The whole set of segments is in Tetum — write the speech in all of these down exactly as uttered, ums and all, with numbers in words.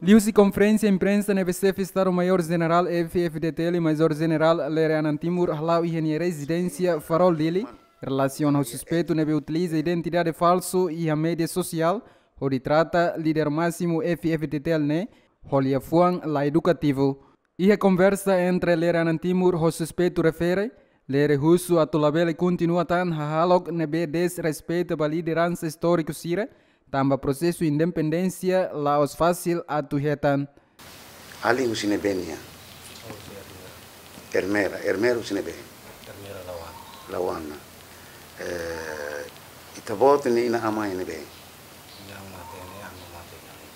Liuhusi konferénsia imprensa ne'ebé Xefe Estadu Maiór Jenerál F-FDTL Maizór Jenerál Lere Anan Timur hala'o iha nia rezidénsia Farol Dili, relasiona ho suspeitu ne'ebé utiliza identidade falsu iha média sosiál hodi trata líder másimu F-FDTL ne'e ho liafuan la edukativu. Iha konversa entre Lere Anan Timur ho suspeitu refere, Lere husu atu labele kontinua tan hahalok ne'ebé desrespeita ba lideransa istóriku sira, tanba prosesu independénsia la'ós fasil atu hetan. Alin husi ne'ebé nia? Ermera, Ermera husi ne'ebé? Ermera Lauana. Lauana. Eh, ita-boot ne'e inan-aman ne'ebé? Inan mate ne'e, aman mate ne'e.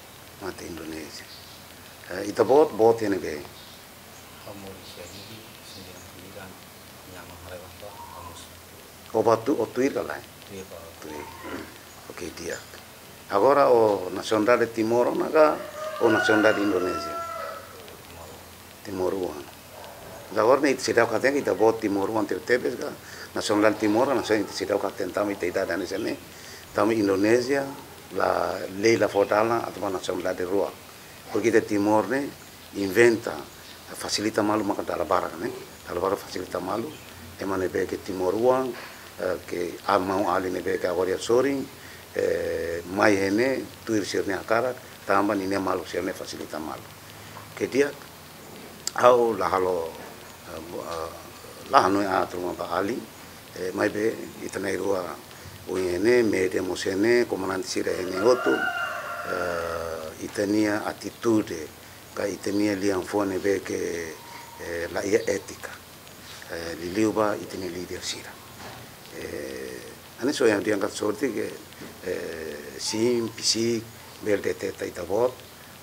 Mate Indonézia. Eh, ita-boot, boot ne'ebé? Ha'u moris iha Dili, sendiri kulidan, inan-aman haree bang ba, ha'u moris. O ba tuir, o tuir ka lae? Tuir ba. Tuir. Oke, di'ak. Agora o nasionalidade Timor ona ka, o nasionalidade Indonézia? Timor. Timoroan. Agora ne'e ita seidauk hatene ita-boot timoroan tebetebes ka, nasionalidade Timor, nasional ita seidauk hatene tanba ita idade hanesan ne'e, tanba Indonézia la, lei la fó dalan atu ba nasionalidade rua. Porke ita Timor ne'e inventa, fasilita malu maka dala barak ne'e, dala barak fasilita malu, ema ne'ebé ke timoroan, eh, ke maun-alin ne'ebé ke agora iha sorin, eh, mai iha ne'e, tuir sira-nia hakarak, tanba ninia maluk sira-ne'e fasilita malu. Ke di'ak, ha'u la halo, eh, bu-, eh, la hanoin aat ruma ba alin, eh, maibé ita na'in-rua ohin ne'e, média mós iha ne'e, komandante sira iha ne'e hotu, eh, ita-nia atitude, ka ita-nia liafuan ne'ebé ke, eh, la iha étika, eh, liuliu ba ita-nia líder sira. Eh, hanesan ohin ha'u dehan katak sorte ke, eh, sim, pisik, bele deteta ita-boot,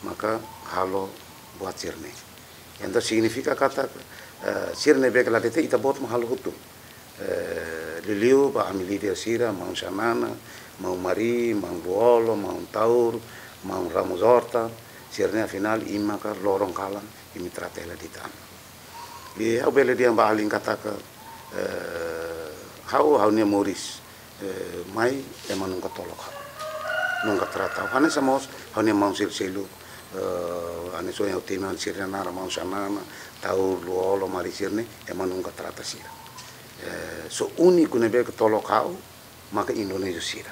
maka halo buat sira-ne'e. Entaun signifika katak, eh, sira ne'ebé ke la deteta ita-boot mak halo hotu. Eh, liuliu ba ami líder sira, maun Xanana, maun Mari, maun Lú-Olo, maun Taur, maun Ramos Horta, sira-ne'e afinál imi maka loron kalan, imi trata hela de'it ami. I ha'u bele dehan ba alin katak, eh, ha'u, ha'u-nia moris, eh, mai ema nunka tolok ha'u. Nunka trata ha'u. Hanesan mós, ha'u-nia maun seluk-seluk, eh, hanesan ohin ha'u temi ona sira-nia naran, maun Xanana, Taur, Lú-Olo, Mari sira-ne'e, ema nunka trata sira. Eh, só úniku ne'ebé ke tolok ha'u, maka Indonézia sira.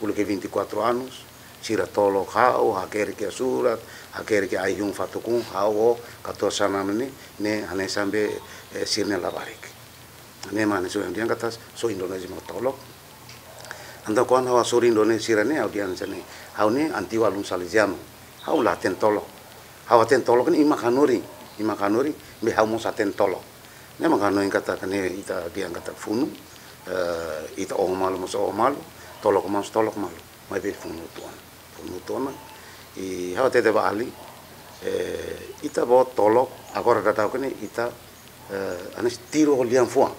Uluk vinte e quatro anos, sira tolok ha'u, hakerek iha surat, hakerek iha ai-hun fatuk-hun, ha'u ho katuas Xanana ne'e, ne'e hanesan be, eh, sira-nia labarik. Ne'e mak hanesan ohin ha'u dehan katak, só Indonézia mak tolok. Entaun kuandu ha'u hasoru Indonézia sira-ne'e, ha'u dehan hanesan ne'e, ha'u ne'e antigu alun Salezianu, ha'u la hatene tolok. Ha'u hatene tolok ne'e imi mak hanorin, imi mak hanorin, maibé ha'u mós hatene tolok. Ne'e mak hanoin katak ne'e ita dehan katak funu, eh, ita oho malu mós oho malu, tolok mós tolok malu, maibé funu uitoan. Funu uitoan, i ha'u hatete ba alin, eh, ita-boot tolok, agora daudaun ne'e ita, eh, hanesan tiru ho liafuan.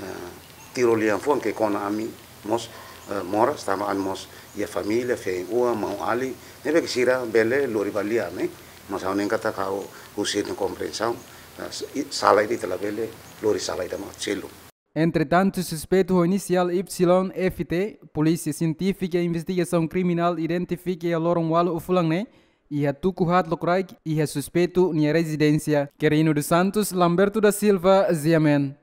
Eh, tiru ho liafuan ke kona ami mós, eh, moras, tanba ami mós iha família, feen-oan, maun-alin, ne'ebé ke sira bele lori ba lia ne'e, mas ha'u hanoin katak ha'u husu ita-nia komprensaun, eh, s-, i sala ida ita labele lori sala ida mak seluk. Entretantu, suspeitu ho inisiál Y F T, Polísia Sientífika i Investigasaun Kriminál identifika iha loron ualu fulan ne'e, iha tuku haat lokraik iha suspeitu nia rezidénsia. Quirino dos Santos, Lamberto da Silva, G M N.